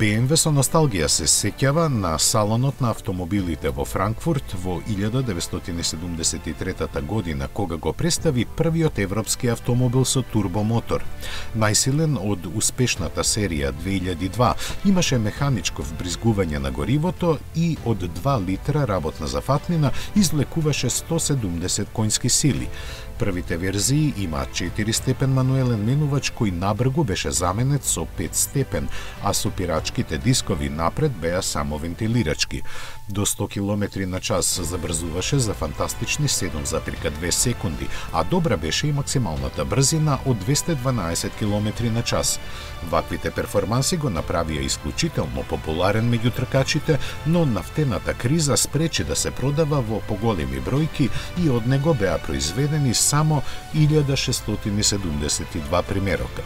BMW со носталгија се сеќава на салонот на автомобилите во Франкфурт во 1973 година, кога го представи првиот европски автомобил со турбомотор. Најсилен од успешната серија 2002, имаше механичко вбризгување на горивото и од 2 литра работна зафатнина извлекуваше 170 конски сили. Првите верзии имаат 4-степен мануелен менувач кој набргу беше заменет со 5-степен, а сопирачките дискови напред беа само вентилирачки. До 100 км на час забрзуваше за фантастични 7,2 секунди, а добра беше и максималната брзина од 212 км на час. Ваквите перформанси го направија исклучително популарен меѓу тркачите, но нафтената криза спречи да се продава во поголеми бројки и од него беа произведени само 1672 примерока.